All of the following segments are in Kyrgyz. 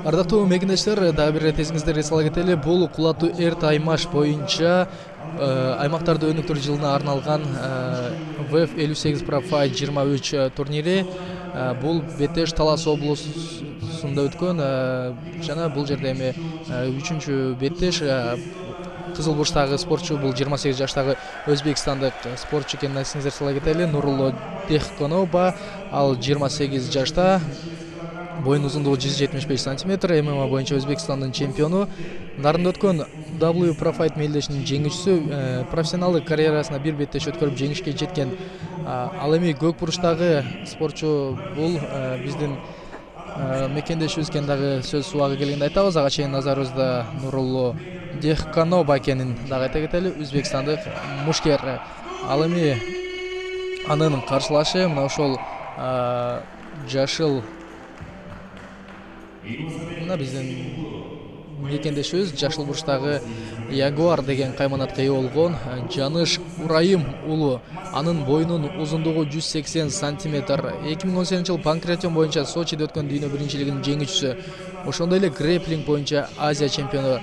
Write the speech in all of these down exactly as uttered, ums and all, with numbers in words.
Ардактуу мекендештер, дагы бир ирет эсиңиздерге сала кетели. Бул кулаттуу эрт аймаш боюнча аймактарды өнүктүрүү жылына арналган вэ эф элүү сегиз Pro Fight жыйырма үч турнири. Бул Бетеш Талас облусунда өткөн жана бул жерде эми үчүнчү Бетеш кызыл бурчтагы спортчу, бул жыйырма сегиз жаштагы өзбекстандык спортчу экенин эсиңиздерге сала кетели. Нурулло Дехконова, ал жыйырма сегиз жашта, боюнун узундугу жүз жетимиш беш сантиметр, эм эм а боюнча Өзбекстандын чемпиону. Нарында өткөн дабл ю Pro Fight мелдешинин жеңүүчүсү, профессионалдык карьерасына бир беттеш өткөрүп жеңишке жеткен. Ал эми көк бурчтагы спортчу бул биздин мекендешибиз экен дагы сөз убагы келгенде айтабыз. Ага чейин назарыбызда Нурулло Дехконова экенин дагы айта кетели, өзбекстандык мушкер. Ал эми анын каршылашы мына ошол жашыл, мына биздин мекендешибиз жашыл бурчтагы Ягуар деген кайманатка ээ болгон Жаныш Урайым уулу. Анын боюнун узундугу жүз сексен сантиметр. эки миң он сегизинчи жыл панкратион боюнча Сочиде өткөн дүйнө биринчилигинин жеңүүчүсү. Ошондой эле грэплинг боюнча Азия чемпиону.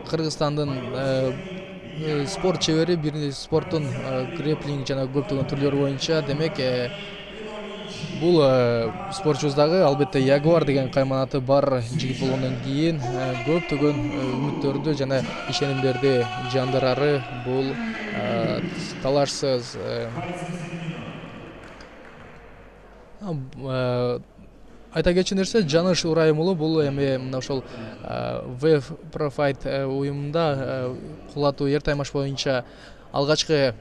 Кыргызстандын спорт чебери, бир спорттун грэплинг жана көптөгөн түрлөрү боюнча. Демек бул спортчубуз дагы албетте Ягуар деген кайманаты бар жигит болгондон кийин көптөгөн үмүттөрдү жана ишенимдерди жандырары бул талашсыз. Айта кетчү нерсе, Жаныш Урайым уулу бул эми мына ошол вэ эф Pro Fight уюмунда кулаттуу эрт аймаш боюнча алгачкы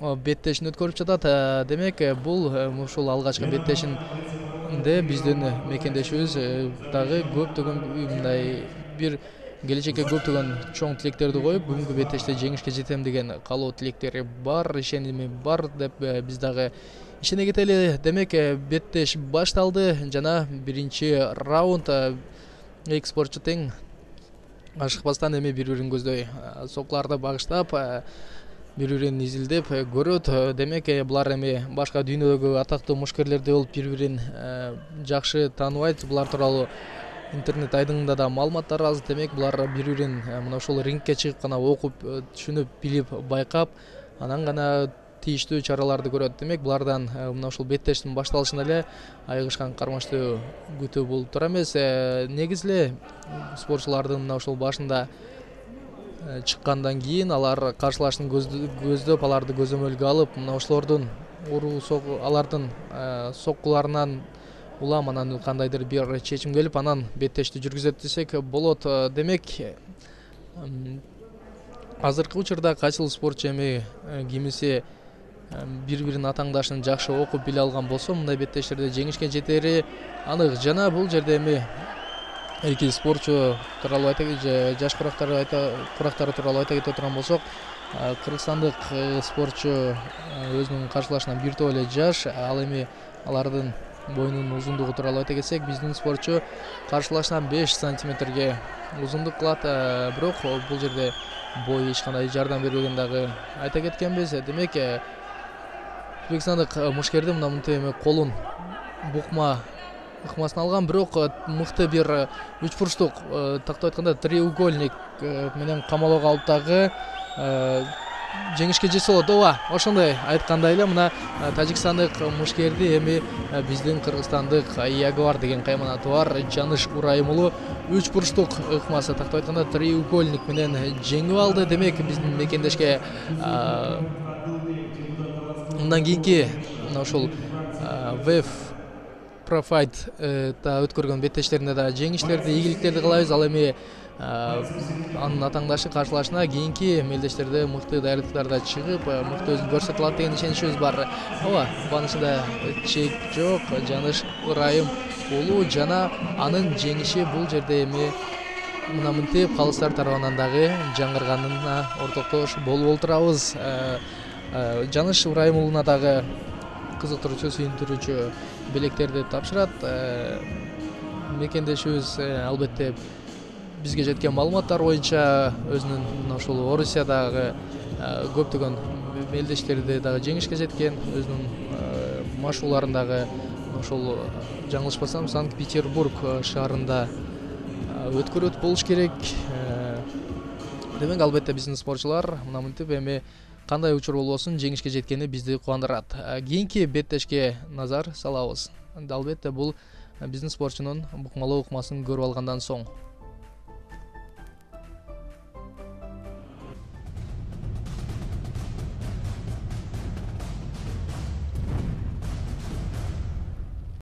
беттешин өткөрүп жатат. Демек бул ушул алгачкы беттешинде биздин мекендешибиз дагы көптөгөн мындай бир келечекке көптөгөн чоң тилектерди коюп, бүгүнкү беттеште жеңишке жетем деген каалоо тилектери бар, ишеними бар деп биз дагы ишене кетели. Демек беттеш башталды жана биринчи раунд эки спортчу тең ашыкпастан эми бири-бирин көздөй соккуларды багыштап, бири-бирин изилдеп көрөт. Демек булар эми башка дүйнөдөгү атактуу мушкерлердей болуп бири-бирин жакшы тааныбайт. Булар тууралуу интернет айдыңында да маалыматтар аз. Демек булар бири-бирин мына ошол рингке чыгып гана окуп, түшүнүп, билип, байкап, анан гана тийиштүү чараларды көрөт. Демек булардан мына ушул беттештин башталышында эле айыгышкан кармаштуу күтүү болуп тура эмес. Негизи эле спортчулардын мына ушул башында чыккандан кийин алар каршылашын көздөп, аларды көзөмөлгө алып, мына ошолордун уруу алардын соккуларынан улам анан кандайдыр бир чечим келип, анан беттешти жүргүзөт десек болот. Демек азыркы учурда кайсыл спортчу эми кимиси бири-биринин атаңдашын жакшы окуп биле алган болсо, мындай беттештерде жеңишке жетери анык. Жана бул жерде эми эки спортчу тууралуу айта кетели, жаш курактары айта курактары тууралуу айта кете турган болсок, кыргызстандык спортчу өзүнүн каршылашынан бир топ эле жаш. Ал эми алардын боюнун узундугу тууралуу айта кетсек, биздин спортчу каршылашынан беш сантиметрге узундук кылат. Бирок бул жерде бой эч кандай жардам бербеген дагы айта кеткенбиз. Демек өзбекстандык мушкерди мына мынтип эми колун букма ыкмасын алган, бирок мыкты бир үч бурчтук, тактап айтканда треугольник менен камалоого алып дагы жеңишке жетсе болот. Ооба, ошондой айткандай эле мына тажикстандык мушкерди эми биздин кыргызстандык Ягуар деген кайманаты бар Жаныш Урайым уулу үч бурчтук ыкмасы, тактап айтканда треугольник менен жеңип алды. Демек биздин мекендешке мындан кийинки мына ушул вэ эф Pro Fight та өткөргөн беттештеринде да жеңиштерди, ийгиликтерди каалайбыз. Ал эми анын атаңдашы каршылашына кийинки мелдештерде мыкты даярдыктарда чыгып, мыкты өзүн көрсөтө алат деген ишеничибиз бар. Ооба, буанысында чек жок. Жаныш Урайым уулу жана анын жеңиши бул жерде эми мына мынтип калыстар тарабынан дагы жаңырганына ортоктош болуп отурабыз. Жаныш Урайым уулуна дагы кызыктыруучу, сүйүндүрүүчү белектерди тапшырат. Мекендешибиз албетте бизге жеткен маалыматтар боюнча өзүнүн мына ушул Орусиядагы көптөгөн мелдештерди дагы жеңишке жеткен, өзүнүн машууларын дагы ошол жаңылышпасам Санкт-Петербург шаарында өткөрөт болуш керек. Демек албетте биздин спортчулар мына мынтип эми кандай учур болбосун жеңишке жеткени бизди кубандырат. Кийинки беттешке назар салабыз. Албетте бул биздин спортчунун букмалуу укмасын көрүп алгандан соң.